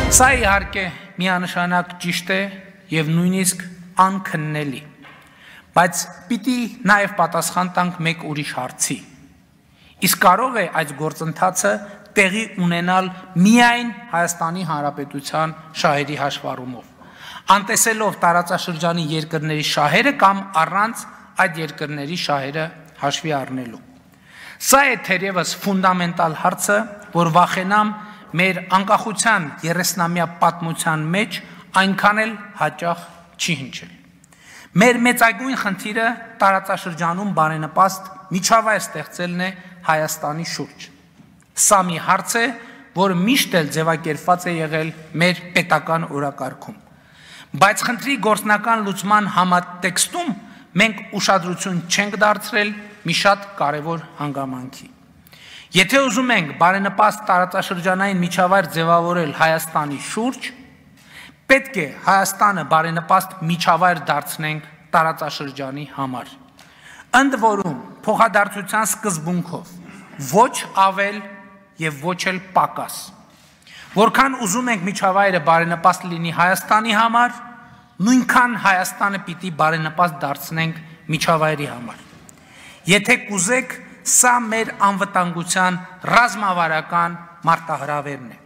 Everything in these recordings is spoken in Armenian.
Սա իհարկե միանշանակ ճիշտ է եւ նույնիսկ անքննելի, բայց պիտի նաեւ պատասխան տանք մեկ ուրիշ հարցի. իսկ կարող է այդ գործընթացը տեղի ունենալ միայն Հայաստանի Հանրապետության շահերի հաշվառումով, անտեսելով տարածաշրջանի երկրների շահերը կամ առանց այդ երկրների շահերը հաշվի առնելու։ Սա է թերևս ֆունդամենտալ հարցը, որ վախենամ մեր անկախության 30-ամյա պատմության մեջ այնքան էլ հաճախ չի հնչել։ Մեր մեծագույն խնդիրը տարածաշրջանում բարենպաստ միջավայր ստեղծելն է Հայաստանի շուրջ։ Սա մի հարց է, որ միշտ էլ ձևակերպված է եղել մեր պետական օրակարգում։ Բայց խնդրի գործնական լուծման համատեքստում մենք ուշադրություն չենք դարձրել մի շատ կարևոր հանգամանքի։ Եթե ուզում ենք բարենպաստ տարածաշրջանային միջավայր ձևավորել Հայաստանի շուրջ, պետք է Հայաստանը բարենպաստ միջավայր դարձնենք տարածաշրջանի համար։ Ընդ որում փոխադարձության սկզբունքով, ոչ ավել եւ ոչ էլ պակաս։ Որքան ուզում ենք միջավայրը բարենպաստ լինի Հայաստանի համար, նույնքան Հայաստանը պիտի բարենպաստ դարձնենք միջավայրի համար։ Եթե կուզեք, սա մեր անվտանգության ռազմավարական մարտահրավերն է։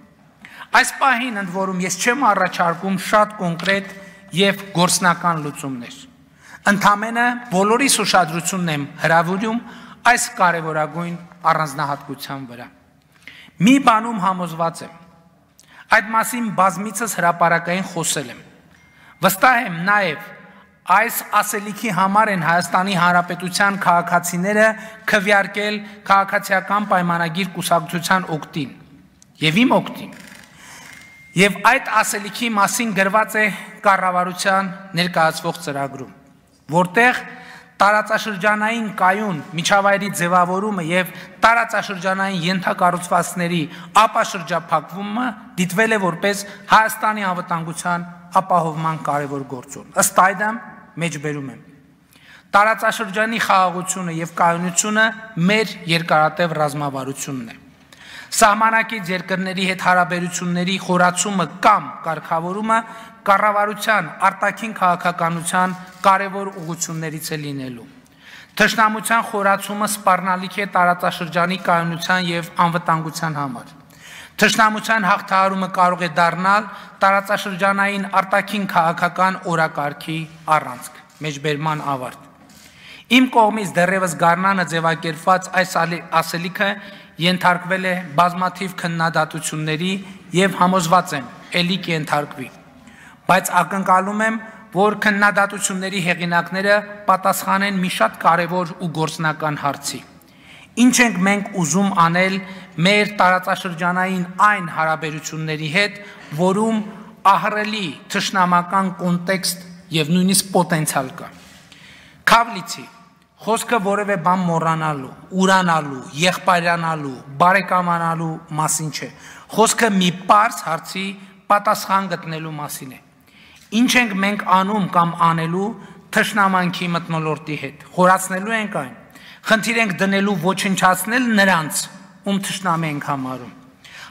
Այս պահին ընդ որում ես չեմ առաջարկում շատ կոնկրետ եւ գործնական լուծումներ։ Ընդամենը բոլորիս ուշադրությունն եմ հրավիրում այս կարևորագույն առանձնահատկության վրա։ Մի բանում համոզված եմ, այդ մասին բազմիցս հրապարակային խոսել եմ։ Վստահ եմ նաև այս ասելիքի համար են Հայաստանի Հանրապետության քաղաքացիները քվեարկել քաղաքացիական պայմանագիր կուսակցության օգտին եւ իմ օգտին։ Եվ այդ ասելիքի մասին գրված է կառավարության ներկայացվող ծրագրում, որտեղ տարածաշրջանային կայուն միջավայրի ձևավորումը եւ տարածաշրջանային ենթակառուցվածքների ապաշրջափակումը դիտվել է որպես Հայաստանի անվտանգության ապահովման կարևոր գործոն։ Ըստ այդմ մեջբերում եմ։ Տարածաշրջանի խաղաղությունը եւ կայունությունը մեր երկարատև ռազմավարությունն է։ Սահմանակից երկրների հետ հարաբերությունների խորացումը կամ կարգավորումը կառավարության արտաքին քաղաքականության կարևոր ուղղություններից է լինելու։ Թշնամության խորացումը սպառնալիք է տարածաշրջանի կայունության եւ անվտանգության համար։ Թշնամության հաղթահարումը կարող է դառնալ տարածաշրջանային արտաքին քաղաքական օրակարգի առանցք։ Մեջբերման ավարտ։ Իմ կողմից դեռևս գարնանը ձևակերպված այս ասելիքը ենթարկվել է բազմաթիվ քննադատությունների եւ համոզված եմ, ելի կենթարկվի։ Բայց ակնկալում եմ, որ քննադատությունների հեղինակները պատասխանեն մի շատ կարևոր ու գործնական հարցի։ Ինչ ենք մենք ուզում անել մեր տարածաշրջանային այն հարաբերությունների հետ, որում ահռելի թշնամական կոնտեքստ եւ նույնիսկ պոտենցիալ կա։ Քավլիցի խոսքը որևէ բան մոռանալու, ուրանալու, եղբայրանալու, բարեկամանալու մասին չէ։ Խոսքը մի պարզ հարցի պատասխան գտնելու մասին է։ Ինչ ենք մենք անում կամ անելու թշնամանքի մթնոլորտի հետ։ Խորացնելու ենք այն։ Խնդիր ենք դնելու ոչնչացնել նրանց, ում թշնամի ենք համարում։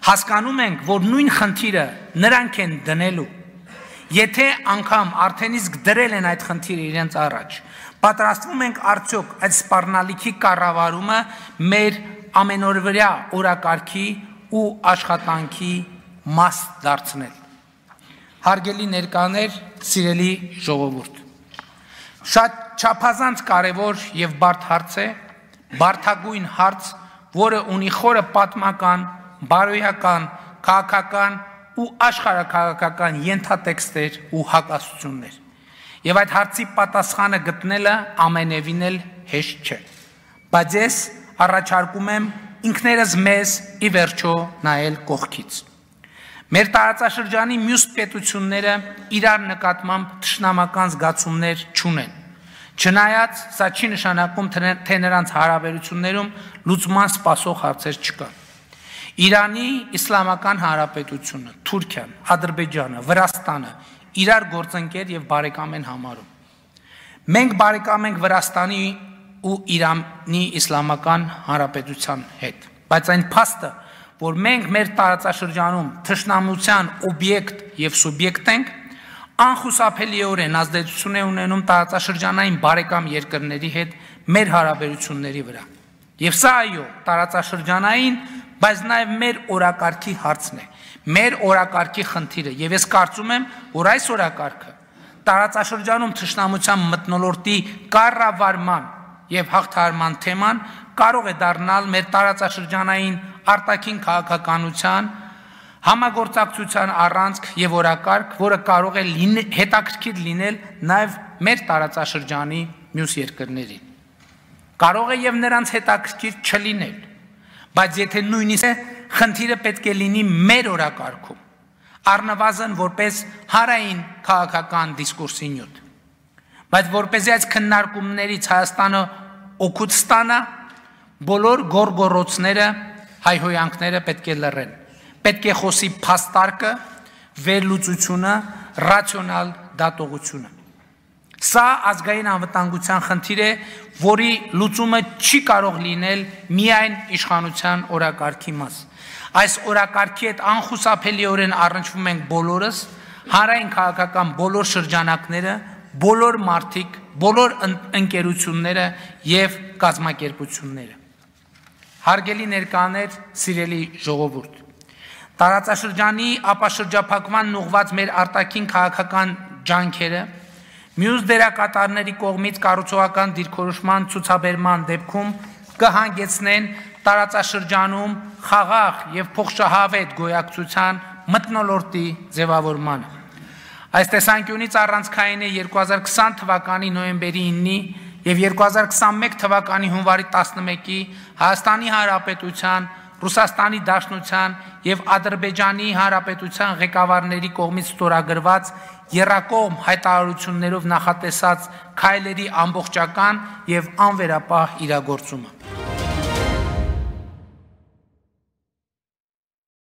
Հասկանում ենք, որ նույն խնդիրը նրանք են դնելու։ Եթե անգամ արդեն իսկ դրել են այդ խնդիրը իրենց առաջ, պատրաստվում ենք արդյոք այդ սպառնալիքի կառավարումը մեր ամենօրվա օրակարգի ու աշխատանքի մաս դարձնել։ Հարգելի ներկաներ, սիրելի ժողովուրդ, շատ չափազանց կարևոր եւ բարդ հարց է, բարդագույն հարց, որը ունի խորը պատմական, բարոյական, քաղաքական ու աշխարհաքաղաքական ենթատեքստեր ու հակասություններ։ Եվ այդ հարցի պատասխանը գտնելը ամենևին էլ հեշտ չէ։ Բայց ես առաջարկում եմ ինքներս մեզ ի վերջո նայել կողքից։ Մեր տարածաշրջանի մյուս պետությունները իրար նկատմամբ թշնամական զգացումներ չունեն։ Չնայած սա չի նշանակում, թե նրանց հարաբերություններում լուծման սպասող հարցեր չկան։ Իրանի Իսլամական Հանրապետությունը, Թուրքիան, Ադրբեջանը, Վրաստանը իրար գործընկեր եւ բարեկամ են համարում։ Մենք բարեկամ ենք Վրաստանի ու Իրանի Իսլամական Հանրապետության հետ, բայց այն փաստը, որ մենք մեր տարածաշրջանում թշնամության օբյեկտ եւ սուբյեկտ ենք, անխուսափելիորեն ազդեցություն է ունենում տարածաշրջանային բարեկամ երկրների հետ մեր հարաբերությունների վրա։ Եվ սա այո, տարածաշրջանային, բայց նաեւ մեր օրակարգի հարցն է, մեր օրակարգի խնդիրը, եւ ես կարծում եմ, որ այս օրակարգը տարածաշրջանում թշնամության մթնոլորտի կառավարման եւ հաղթահարման թեման կարող է դառնալ մեր տարածաշրջանային արտաքին քաղաքականության համագործակցության առանցք եւ օրակարգ, որը կարող է հետաքրքիր լինել նաեւ մեր տարածաշրջանի մյուս երկրներին։ Կարող է եւ նրանց հետաքրքիր չլինել, բայց եթե նույնիսկ խնդիրը պետք է լինի մեր օրակարգում, առնվազն որպես հարային քաղաքական դիսկուրսի նյութ, բայց որպեսզի այս քննարկումներից Հայաստանը օգուտ ստանա, բոլոր գորգորոցները, հայհոյանքները պետք է լռեն, պետք է խոսի փաստարկը, վերլուծությունը, ռացիոնալ դատողությունը։ Սա ազգային անվտանգության խնդիր է, որի լուծումը չի կարող լինել միայն իշխանության օրակարգի մաս։ Այս օրակարգի հետ անխուսափելիորեն առնչվում ենք բոլորս, հանրային քաղաքական բոլոր շրջանակները, բոլոր մարդիկ, բոլոր ընկերությունները եւ կազմակերպությունները։ Հարգելի ներկաներ, սիրելի ժողովուրդ, տարածաշրջանի ապաշրջափակման ուղղված մեր արտաքին քաղաքական ջանքերը մյուս դերակատարների կողմից կառուցողական դիրքորոշման ցուցաբերման դեպքում կհանգեցնեն տարածաշրջանում խաղաղ եւ փոխշահավետ գոյակցության մթնոլորտի ձևավորմանը։ Այս տեսանկյունից առանցքային է 2020 թվականի նոյեմբերի 9-ի եւ 2021 թվականի հունվարի 11-ի Հայաստանի Հանրապետության, Ռուսաստանի Դաշնության եւ Ադրբեջանի Հանրապետության ղեկավարների կողմից ստորագրված եռակողմ հայտարարություններով նախատեսած քայլերի ամբողջական եւ անվերապահ իրագործումը։